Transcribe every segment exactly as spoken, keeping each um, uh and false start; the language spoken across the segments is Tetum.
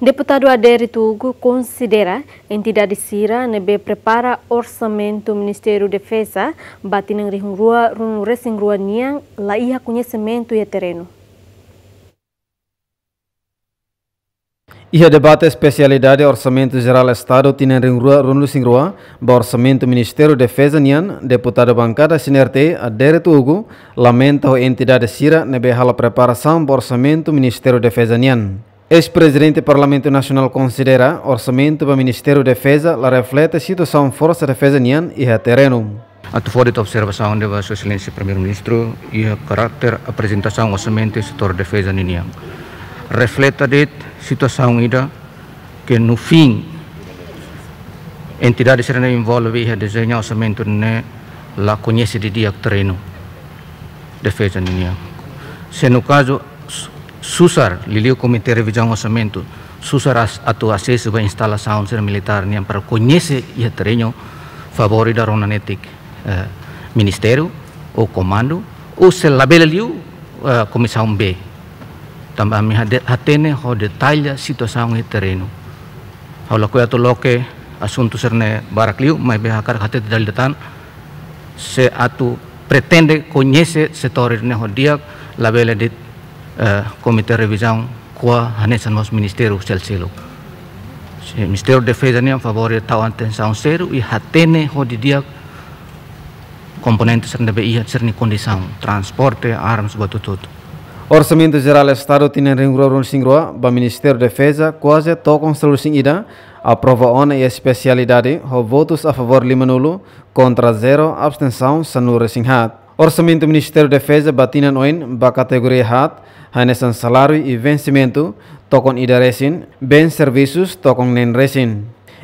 Deputadu Adérito Hugo konsidera entidade sira ne'ebé prepara orsamentu Ministériu Defeza ba tinan rihun rua ruanulu resin rua nian la iha koñesimentu iha terrenu. Iha debate espesialidade Orsamentu Jerál Estadu tinan rihun rua ruanulu resin rua ba orsamentu Ministériu Defeza nian, deputadu bankada C N R T Adérito Hugo lamenta ho entidade sira ne'ebé halo preparasaun ba orsamentu Ministériu Defeza nian. Eis-Prezidente Parlamentu Nasionál konsidera orsamentu ba Ministériu Defeza la reflete situasaun Forsa Defeza nian iha terrenu. Atu fó de'it observasaun ida ba Sua Exelénsia Primeiru-Ministru iha karáter aprezentasaun orsamentu setór defeza ninian. Refleta de'it situasaun ida ke no fim entidade sira ne'ebé envolve iha dezeñu orsamentu ne'e la koñese didi'ak terrenu defeza ninian. Se no kazu s-, susar, liuliu Komité Revizaun Orsamentu, susar as-, atu asesu ba instalasaun sira militár nian para koñese iha terrenu, favór ida rona netik, eh, ministériu ou komandu, ou se labele liu, eh, Komisaun B. Tanba ami hade-, hatene ho detalle situasaun iha terrenu. Ha'u lakohi atu loke asuntu sira-ne'e barak liu, maibé hakarak hatete dala ida tan, se atu pretende koñese setór ne'e ho di'ak, labele de'it, eh, Komité Revizaun ko'a hanesan mós ministériu seluk. Se Ministériu Defeza nian favór tau atensaun sériu i hatene ho didi'ak komponente sira ne'ebé iha, sira-nia kondisaun, transporte, armas, buat hotu-hotu. Orsamentu Jerál Estadu tinan rihun rua ruanulu resin rua ba Ministériu Defeza kuaze tokon sanulu resin ida aprova ona iha espesialidade ho votus a favór limanulu, kontra zero, abstensaun sanulu resin haat. Orsamentu Ministériu Defeza ba tinan oin ba kategoria haat, hanesan saláriu i vensimentu, tokon ida resin, bens servisus, tokon neen resin.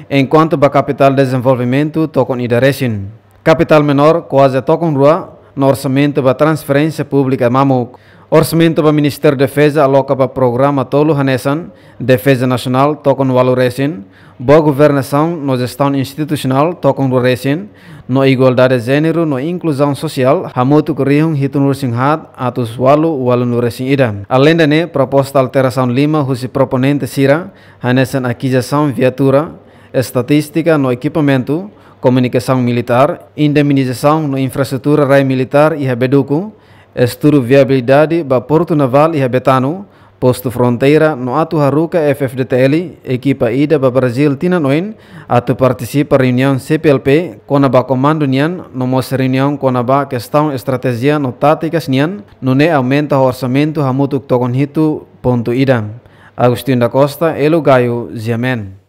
Enkuantu ba kapitál dezenvolvimentu, tokon ida resin. Kapitál menór kuaze tokon rua, no orsamentu ba transferénsia públika mamuk. Orsamentu ba Ministériu Defeza aloka ba programa tolu hanesan Defeza Nasionál tokon ualu resin, Boa Governasaun no Jestaun Institusionál tokon rua resin, no Igualdade Jéneru no Inkluzaun Sosiál hamutuk rihun hitunulu resin haat atus ualu ualunulu resin ida. Aleinde ne'e, proposta alterasaun lima husi proponente sira, hanesan akizisaun viatura, estatístika no ekipamentu, komunikasaun militár, indemnizasaun no infraestrutura rai militár iha Beduku, estudu viabilidade ba Portu Navál iha Betano, postu fronteira no atu haruka F-FDTL ekipa ida ba Brazíl tinan oin atu partisipa reuniaun C P L P kona-ba komandu nian, no mós reuniaun kona-ba kestaun estratéjia no tátikas nian, nune'e aumenta ho orsamentu hamutuk tokon hitu pontu ida. Agostinho da Costa, Elo Gayo, G M N.